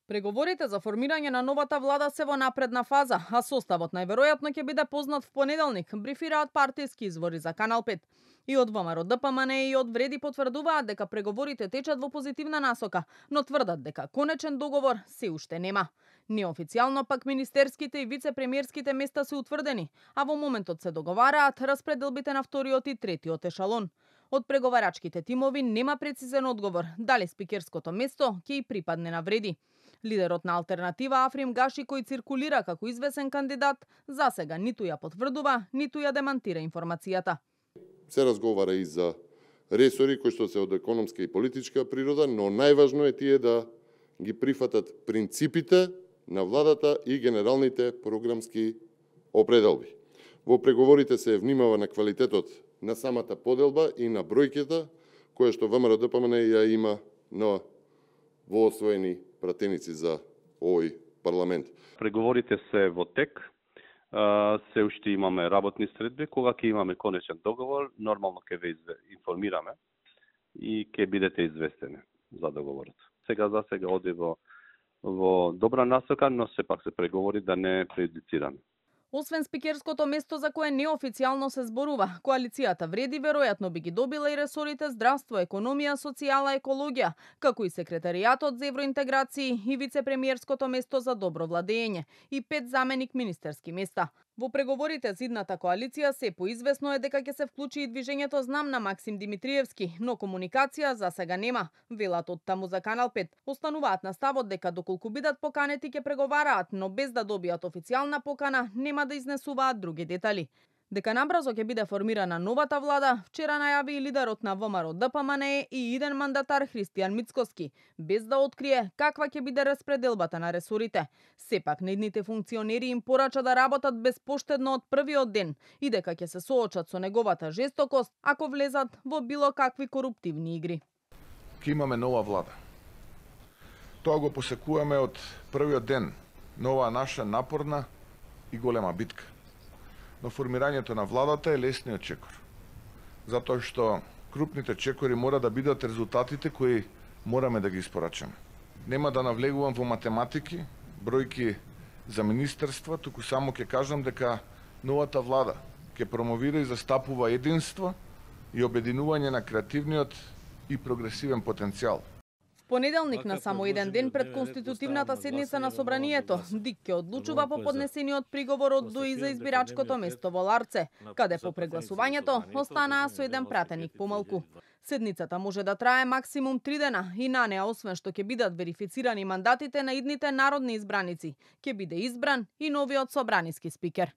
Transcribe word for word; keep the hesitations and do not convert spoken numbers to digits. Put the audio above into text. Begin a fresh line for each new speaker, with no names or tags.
Преговорите за формирање на новата влада се во напредна фаза, а составот најверојатно ќе биде познат в понеделник, брифираат партиски извори за Канал пет. И од ВМРО Д П М Н и од Вреди потврдуваат дека преговорите течат во позитивна насока, но тврдат дека конечен договор се уште нема. Неофицијално пак министерските и вице-премиерските места се утврдени, а во моментот се договараат распределбите на вториот и третиот ешалон. Од преговарачките тимови нема прецизен одговор дали спикерското место ќе и припадне на Вреди. Лидерот на Алтернатива Африм Гаши, кој циркулира како извесен кандидат, засега ниту ја потврдува, ниту ја демантира информацијата.
Се разговара и за ресори кои што се од економска и политичка природа, но најважно е тие да ги прифатат принципите на владата и генералните програмски определби. Во преговорите се внимава на квалитетот на самата поделба и на бројките која што ВМРО Д П М Н ја има на воосвоени пратеници за овој парламент.
Преговорите се во тек. Се уште имаме работни средби. Кога ќе имаме конечен договор, нормално ќе ве информираме и ќе бидете известени за договорот. Сега за сега оди во, во добра насока, но сепак се преговори да не прејудицираме.
Освен спикерското место за кое неофицијално се зборува, коалицијата Вреди веројатно би ги добила и ресорите здравство, економија, социјала, екологија, како и секретаријатот за евроинтеграции и вице-премиерското место за добро владење и пет заменик министерски места. Во преговорите за идната коалиција се поизвестно е дека ќе се вклучи и движењето Знам на Максим Димитриевски, но комуникација за сега нема, велат од таму за Канал пет. Остануваат на ставот дека доколку бидат поканети ќе преговараат, но без да добијат официјална покана нема да изнесуваат други детали. Дека набрзо ќе биде формирана новата влада, вчера најави и лидерот на ВМРО Д П М Н и иден мандатар Христијан Мицкоски, без да открие каква ќе биде распределбата на ресорите. Сепак наидните функционери им порача да работат безпоштедно од првиот ден и дека ќе се соочат со неговата жестокост ако влезат во било какви коруптивни игри.
Ке имаме нова влада. Тоа го посекуваме од првиот ден на оваа наша напорна и голема битка. Но формирањето на владата е лесниот чекор. Затоа што крупните чекори мора да бидат резултатите кои мораме да ги испорачаме. Нема да навлегувам во математики, бројки за министерства, туку само ќе кажам дека новата влада ќе промовира и застапува единство и обединување на креативниот и прогресивен потенцијал.
Понеделник на само еден ден пред конститутивната седница на Собранието, ДИК ќе одлучува по поднесениот приговор од ДОИ за избирачкото место во Ларце, каде по прегласувањето останаа со еден пратеник помалку. Седницата може да трае максимум три дена и на неа, освен што ќе бидат верифицирани мандатите на идните народни избраници, ќе биде избран и новиот собраниски спикер.